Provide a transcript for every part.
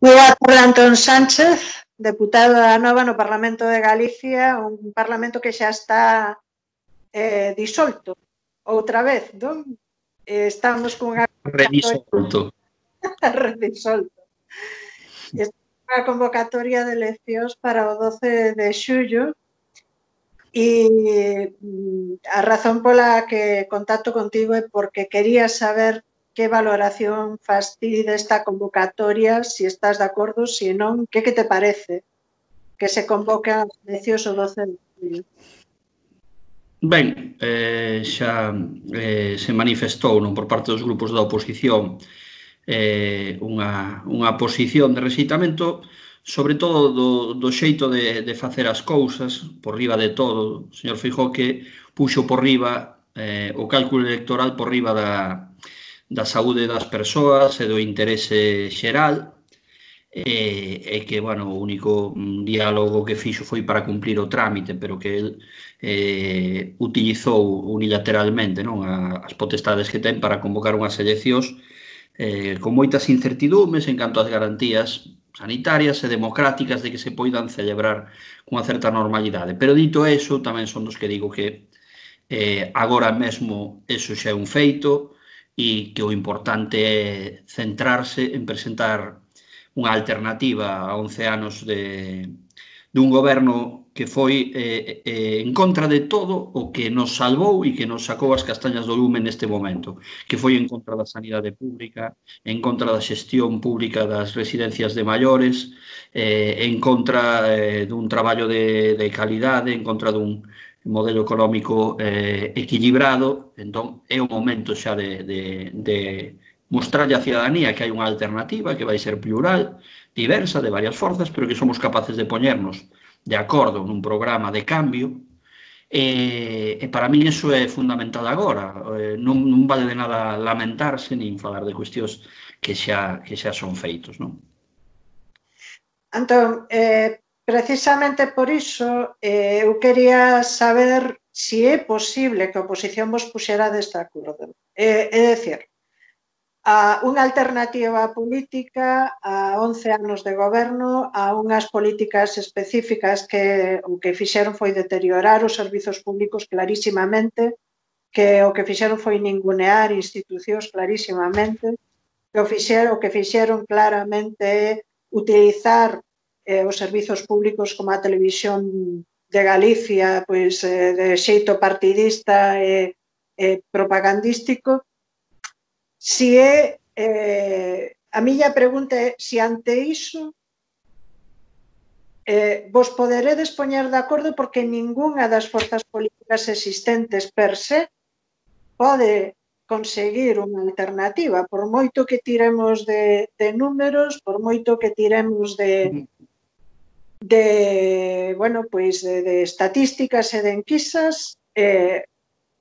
Moi boa tarde, Antón Sánchez, deputado da Nova no Parlamento de Galicia, un parlamento que xa está disolto outra vez, non? Estamos cunha Redisolto. redisolto. Estamos cunha convocatoria de eleccións para o 12 de xullo e a razón pola que contacto contigo é porque quería saber que valoración fas ti desta convocatoria, se estás de acordo, se non, que te parece que se convoque as eleccións o 12 de julio? Ben, xa se manifestou non por parte dos grupos da oposición unha posición de rexeitamento, sobre todo do xeito de facer as cousas, por riba de todo. O señor Feijóo que puxo por riba o cálculo electoral por riba da saúde das persoas e do interese xeral, e que, bueno, o único diálogo que fixo foi para cumplir o trámite, pero que el utilizou unilateralmente, non, as potestades que ten para convocar unhas eleccións con moitas incertidumes en canto ás garantías sanitarias e democráticas de que se poidan celebrar cunha certa normalidade. Pero dito eso, tamén son dos que digo que agora mesmo eso xa é un feito e que o importante é centrarse en presentar unha alternativa a 11 anos dun goberno que foi en contra de todo o que nos salvou e que nos sacou as castañas do lume neste momento, que foi en contra da sanidade pública, en contra da xestión pública das residencias de maiores, en contra dun traballo de calidade, en contra dun modelo económico equilibrado. Entón, é o momento xa de mostrarlle á cidadanía que hai unha alternativa que vai ser plural, diversa, de varias forzas, pero que somos capaces de poñernos de acordo nun programa de cambio, e para mí iso é fundamental agora. Non vale de nada lamentarse nin falar de cuestións que xa son feitos, non? Antón, precisamente por iso eu quería saber se é posible que a oposición vos puxera deste acordo. É dicir, a unha alternativa política a 11 anos de goberno, a unhas políticas específicas que o que fixeron foi deteriorar os servizos públicos clarísimamente, que o que fixeron foi ningunear institucións clarísimamente, que o que fixeron claramente é utilizar os servizos públicos como a televisión de Galicia, pois de xeito partidista e propagandístico. Si é, a miña pregunta é se ante iso vos poderedes poñer de acordo, porque ningunha das forzas políticas existentes per se pode conseguir unha alternativa, por moito que tiremos de números, por moito que tiremos de estatísticas e de enquisas.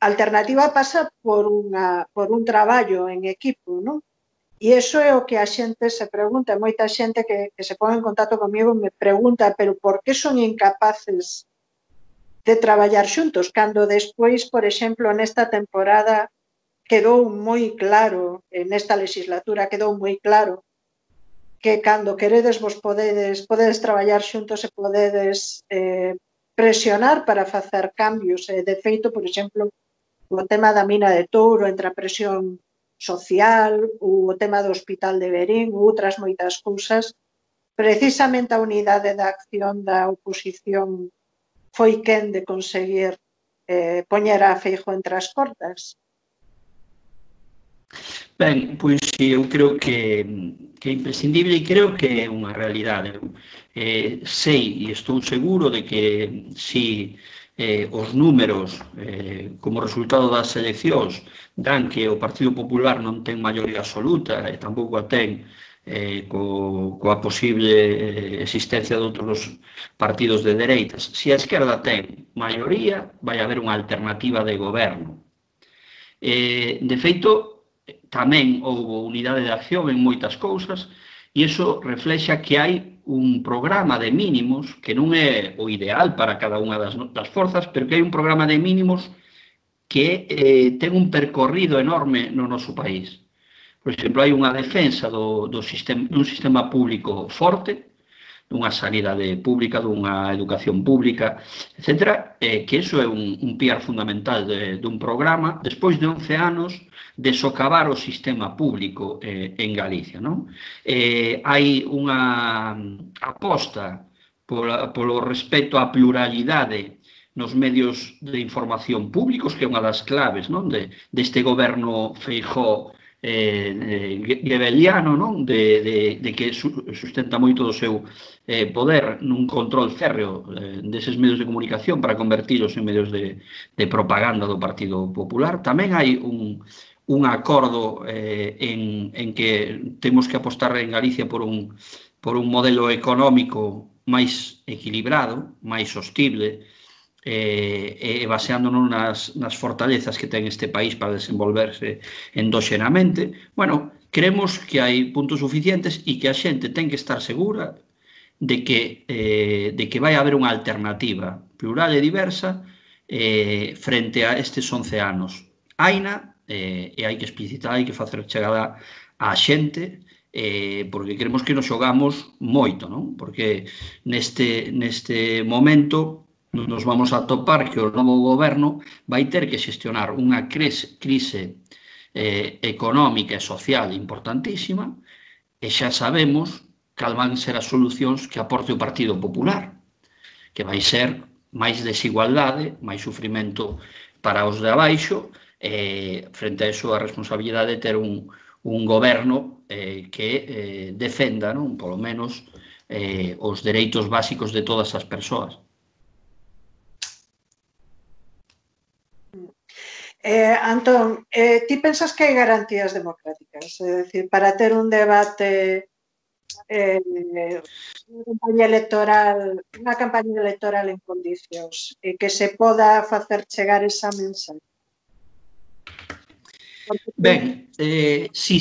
A alternativa pasa por un traballo en equipo, non? E iso é o que a xente se pregunta. Moita xente que se pon en contacto comigo me pregunta, pero por que son incapaces de traballar xuntos, cando despois, por exemplo, nesta temporada quedou moi claro, nesta legislatura quedou moi claro que cando queredes vos podedes traballar xuntos e podedes presionar para facer cambios. De feito, por exemplo, o tema da mina de Touro, entre a presión social, o tema do hospital de Verín, outras moitas cousas, precisamente a unidade da acción da oposición foi quen de conseguir poñer a Feijóo entre as cordas. Ben, pois eu creo que é imprescindible e creo que é unha realidade. Sei e estou seguro de que si os números como resultado das eleccións dan que o Partido Popular non ten maioría absoluta e tampouco a ten coa posible existencia de outros partidos de dereitas. Se a esquerda ten maioría, vai haber unha alternativa de goberno. De feito, tamén houve unidade de acción en moitas cousas e iso reflexa que hai un programa de mínimos que non é o ideal para cada unha das forzas, pero que hai un programa de mínimos que ten un percorrido enorme no noso país. Por exemplo, hai unha defensa dun sistema público forte, dunha sanidade pública, dunha educación pública, etc., que iso é un piar fundamental dun programa, despois de 11 anos de socavar o sistema público en Galicia, non? Hai unha aposta polo respecto á pluralidade nos medios de información públicos, que é unha das claves, non, deste goberno Feijóo gebeliano, non? De que sustenta moito do seu poder nun control férreo deses medios de comunicación para convertilos en medios de propaganda do Partido Popular. Tamén hai un acordo en que temos que apostar en Galicia por un modelo económico máis equilibrado, máis sostible, baseándonos nas fortalezas que ten este país para desenvolverse endóxenamente. Bueno, creemos que hai puntos suficientes e que a xente ten que estar segura de que vai haber unha alternativa plural e diversa frente a estes 11 anos. Haina, e hai que explicitar, hai que facer chegada á xente, porque creemos que nos xogamos moito, non? Porque neste momento nos vamos a topar que o novo goberno vai ter que xestionar unha crise económica e social importantísima, e xa sabemos cal van ser as solucións que aporte o Partido Popular, que vai ser máis desigualdade, máis sufrimento para os de abaixo, frente a iso a responsabilidade de ter un goberno que defenda, non, polo menos, os dereitos básicos de todas as persoas. Antón, ti pensas que hai garantías democráticas? É dicir, para ter un debate, unha campaña electoral en condicións, que se poda facer chegar esa mensaxe? Ben, si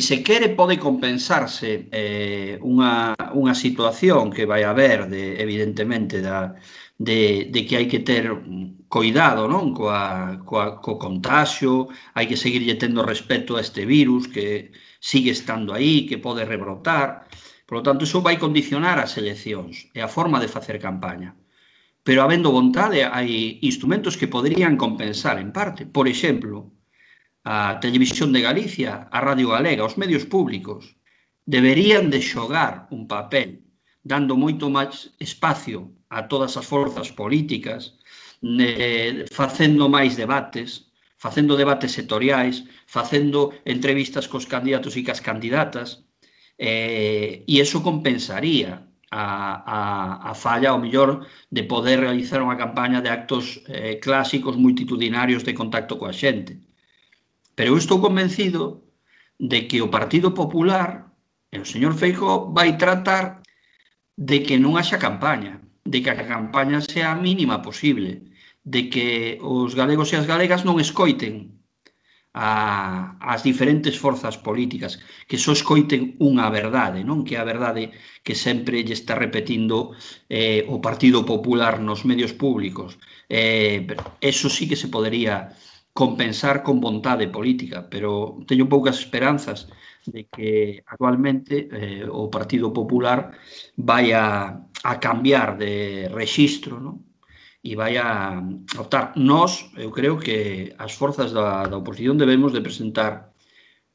se quere pode compensarse unha situación que vai haber, evidentemente, de que hai que ter coidado, non, co contagio, hai que seguirlle tendo respeto a este virus que sigue estando aí, que pode rebrotar. Por lo tanto, iso vai condicionar as eleccións e a forma de facer campaña. Pero, habendo vontade, hai instrumentos que poderían compensar en parte. Por exemplo, a Televisión de Galicia, a Radio Galega, os medios públicos, deberían de xogar un papel, dando moito máis espacio a todas as forzas políticas, facendo máis debates, facendo debates sectoriais, facendo entrevistas cos candidatos e cas candidatas, e iso compensaría a falla, ao mellor, de poder realizar unha campaña de actos clásicos multitudinarios de contacto coa xente. Pero eu estou convencido de que o Partido Popular e o señor Feijóo vai tratar de que non haxa campaña, de que a campaña sea a mínima posible, de que os galegos e as galegas non escoiten as diferentes forzas políticas, que só escoiten unha verdade, non? Que é a verdade que sempre lle está repetindo o Partido Popular nos medios públicos. Eso sí que se podería compensar con vontade política, pero teño poucas esperanzas de que actualmente o Partido Popular vai a cambiar de rexistro, non? E vai a optar. Nós, eu creo que as forzas da oposición debemos de presentar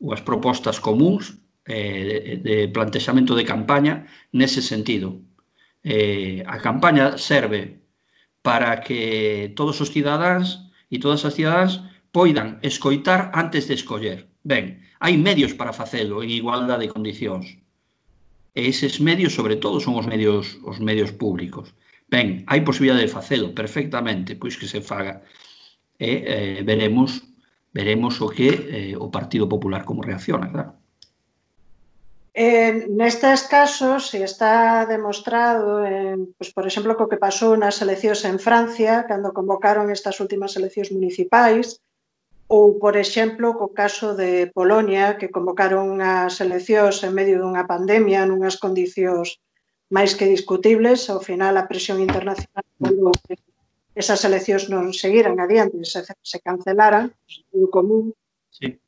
unhas propostas comuns de plantexamento de campaña nese sentido. A campaña serve para que todos os cidadáns e todas as cidadáns poidan escoitar antes de escoller. Ben, hai medios para facelo en igualdade de condicións. E eses medios, sobre todo, son os medios públicos. Ben, hai posibilidade de facelo perfectamente, pois que se faga. E veremos o que o Partido Popular como reacciona, claro. Nestes casos, se está demostrado, por exemplo, co que pasou nas eleccións en Francia, cando convocaron estas últimas eleccións municipais, ou, por exemplo, co caso de Polonia, que convocaron unhas eleccións en medio dunha pandemia, nunhas condicións máis que discutibles. Ao final, a presión internacional volveu que esas eleccións non seguiran adiante, se cancelaran, o común. Sí.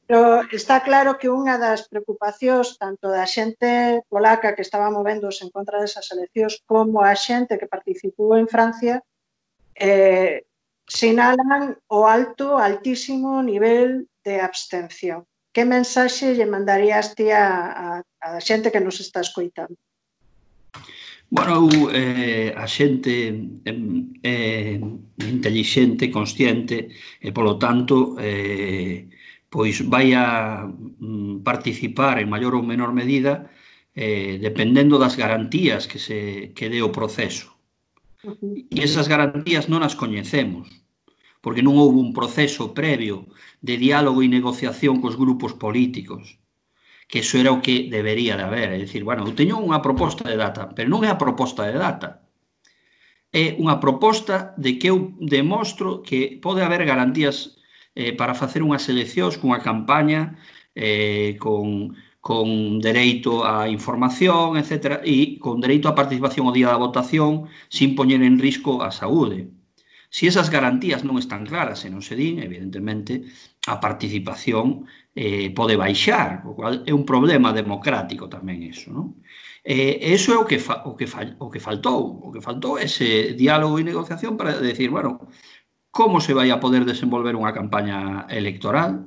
Pero está claro que unha das preocupacións tanto da xente polaca que estaba movéndose en contra desas eleccións como a xente que participou en Francia sinalan o altísimo nivel de abstención. Que mensaxe lle mandarías ti a xente que nos está escoitando? Bueno, a xente intelixente, consciente, e polo tanto, pois vai a participar en maior ou menor medida dependendo das garantías que dé o proceso. E esas garantías non as coñecemos, porque non houve un proceso previo de diálogo e negociación cos grupos políticos, que iso era o que debería de haber. É dicir, bueno, eu teño unha proposta de data, pero non é a proposta de data. É unha proposta de que eu demostro que pode haber garantías para facer unhas eleccións cunha campaña con dereito á información, etc., e con dereito á participación ao día da votación sin poñer en risco a saúde. Se esas garantías non están claras e non se din, evidentemente, a participación pode baixar, o cual é un problema democrático tamén iso, non? Eso é o que faltou. O que faltou é ese diálogo e negociación para decir, bueno, como se vai a poder desenvolver unha campaña electoral,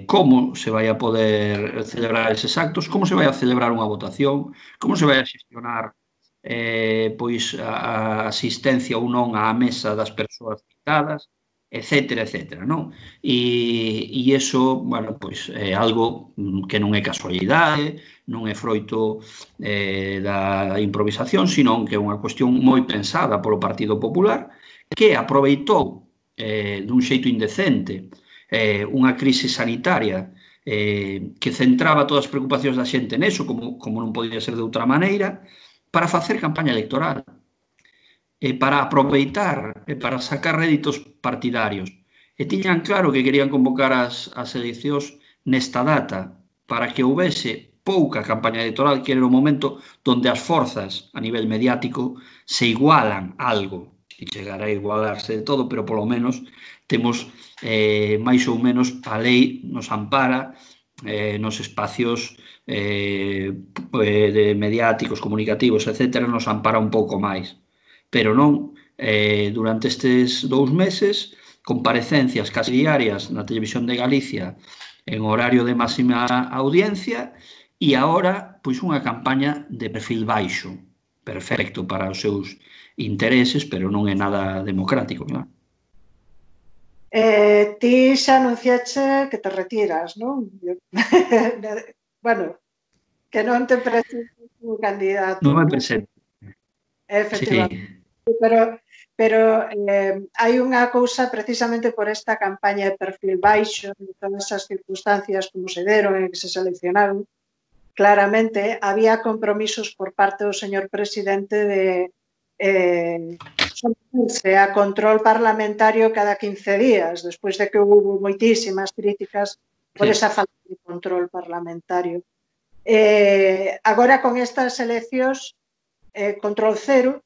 como se vai a poder celebrar eses actos, como se vai a celebrar unha votación, como se vai a xestionar pois a asistencia ou non á mesa das persoas citadas, etcétera, etcétera, non? E iso, bueno, pois é algo que non é casualidade, non é froito da improvisación, sino que é unha cuestión moi pensada polo Partido Popular, que aproveitou dun xeito indecente unha crise sanitaria que centraba todas as preocupacións da xente neso, como non podía ser de outra maneira, para facer campaña electoral, para aproveitar, para sacar réditos partidarios. E tiñan claro que querían convocar as eleccións nesta data, para que houvese pouca campaña electoral, que era o momento onde as forzas a nivel mediático se igualan algo. Se chegará a igualarse de todo, pero polo menos temos máis ou menos a lei nos ampara nos espacios mediáticos, comunicativos, etc., nos ampara un pouco máis. Pero non, durante estes 2 meses, comparecencias casi diarias na Televisión de Galicia en horario de máxima audiencia e agora, pois, unha campaña de perfil baixo, perfecto para os seus intereses, pero non é nada democrático, claro. Ti xa anunciache que te retiras, non? Bueno, que non te presentes como candidato. Non me presento. Efectivamente. Sí. Pero hai unha cousa precisamente por esta campaña de perfil baixo, en todas esas circunstancias como se deron en que se seleccionaron, claramente había compromisos por parte do señor presidente de someterse a control parlamentario cada 15 días, despois de que houve moitísimas críticas por esa falta de control parlamentario. Agora, con estas eleccións, control cero,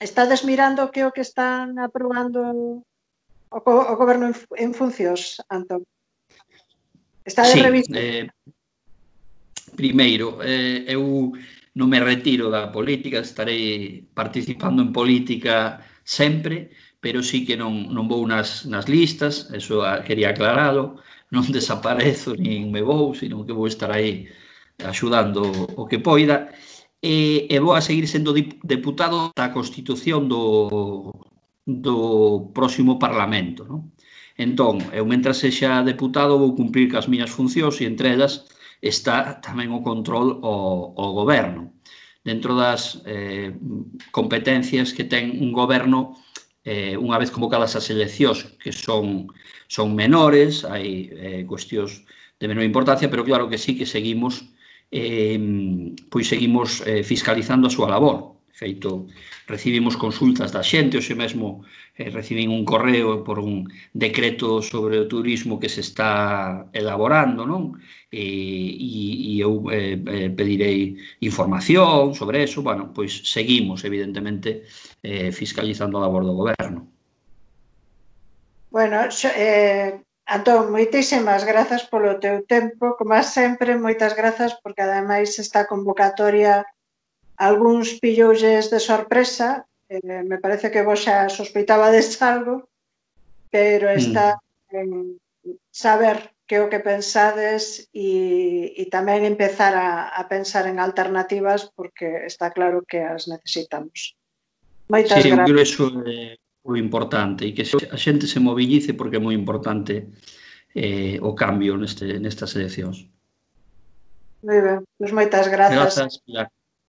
estades mirando que o que están aprobando o goberno en funcións, Antón? Estades revisando? Primeiro, eu non me retiro da política, estarei participando en política sempre, pero sí que non vou nas listas, eso quería aclaralo, non desaparezo nin me vou, sino que vou estar aí axudando o que poida, e vou a seguir sendo deputado da Constitución do próximo Parlamento, non? Entón, eu mentras sexa deputado vou cumprir cas miñas funcións e entre elas está tamén o control ao goberno. Dentro das competencias que ten un goberno, unha vez convocadas as eleccións, que son menores, hai cuestións de menor importancia, pero claro que sí que seguimos fiscalizando a súa labor. De feito, recibimos consultas da xente, hoxe mesmo recibín un correo por un decreto sobre o turismo que se está elaborando, non? E eu pedirei información sobre eso. Bueno, pois seguimos, evidentemente, fiscalizando a labor do goberno. Bueno, Antón, moitísimas grazas polo teu tempo, como sempre, moitas grazas, porque ademais esta convocatoria algúns pilloulles de sorpresa, me parece que vos xa sospeitabades algo, pero está en saber que o que pensades e tamén empezar a pensar en alternativas, porque está claro que as necesitamos. Moitas Sí, eu creo grazas. iso é o importante, e que a xente se mobilice porque é moi importante o cambio nestas eleccións. Moi ben, pois moitas grazas. Grazas, Pilar.